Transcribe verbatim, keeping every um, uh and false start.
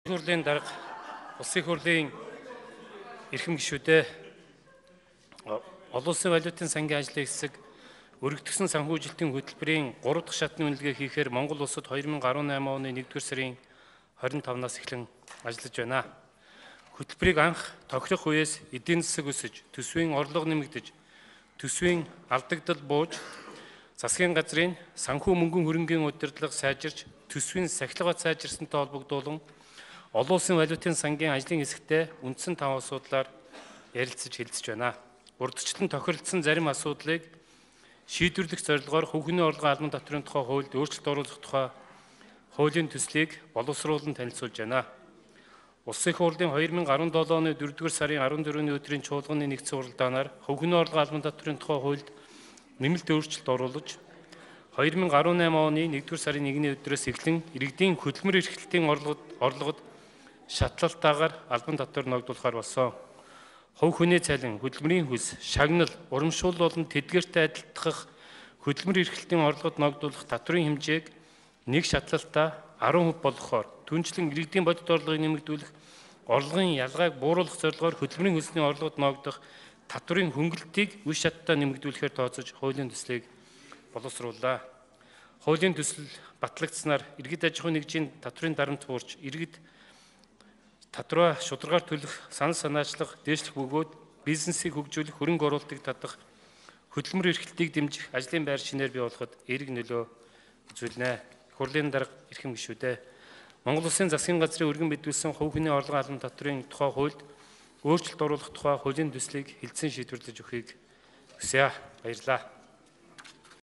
Хурлын дарга улсын хурлын эрхэм гишүүдээ олон улсын валютын сангийн ажлын хэсэг өргөдгсөн санхүүжилтийн хөтөлбөрийн гурав дахь шатны үнэлгээ хийхээр Монгол улсад хоёр мянга арван найман оны нэгдүгээр сарын хорин тавнаас эхлэн ажиллаж байна. Хөтөлбөрийг анх тохирох үеэс эдийн засаг өсөж, төсвийн орлого нэмэгдэж, төсвийн алдагдал бууж, засгийн газрын санхүү мөнгөн хөрөнгийн удирдлага сайжирч, төсвийн сахилга сайжирсантай холбогдуулан олон улсын валютын сангийн ажлын хэсэгтээ үндсэн тав асуудлаар ярилцаж хэлцэж байна. Урдчлан тохиролцсон зарим асуудлыг шийдвэрлэх зорилгоор хөвгөний орлогын албан татврын тухай хуульд өөрчлөлт оруулах тухай хуулийн төслийг боловсруулан танилцуулж байна. Улсын хурлын хоёр мянга арван долоо оны дөрөвдүгээр сарын арван дөрөвний өдрийн чуулганы нэгдсэн уралдаанаар хөвгөний орлогын албан татврын тухай хуульд нэмэлт өөрчлөлт оруулж хоёр мянга арван найман оны нэгдүгээр сарын нэгний өдрөөс эхлэн иргэдийн хөдөлмөр эрхлэлтийн орлогод орлогод шатлалтаагаар албан татвар ногдуулахаар болсон. Хувь хүний цалин, хөдөлмөрийн хөлс, шагнал, урамшуул болон тэдгээртэй адилтгах хөдөлмөр эрхлэлтийн орлогод ногдуулах татврын хэмжээг нэг шатлалтаа арван хувь болгохоор түнчлэн иргэдийн бодит орлогыг нэмэгдүүлэх, орлогын ялгааг бууруулах зорилгоор хөдөлмөрийн хөлсний орлогод ногдох татврын хөнгөлөлтийг үе шаттай нэмэгдүүлэхээр тооцож хуулийн төслийг боловсрууллаа. Хуулийн төсөл батлагдсанаар иргэд аж ахуйн нэгжийн татврын дарамт буурч, иргэд татвараа шударгаар төлөх санал санаачлах, дээшлэх бөгөөд бизнесийг хөгжүүлэх, хөрөнгө оруулалтыг татах, хөдөлмөр эрхлэлтийг дэмжих ажлын байр шинээр бий болгоход эерэг нөлөө үзүүлнэ. Хурлын дарга эрхэм гишүүдээ Монгол Улсын засгийн газрын өргөн мэдүүлсэн хувь хүний орлогын албан татврын тухай хуульд өөрчлөлт оруулах тухай хуулийн төслийг хэлтсэн шийдвэрлэж өгөхийг хүсье. Баярлалаа.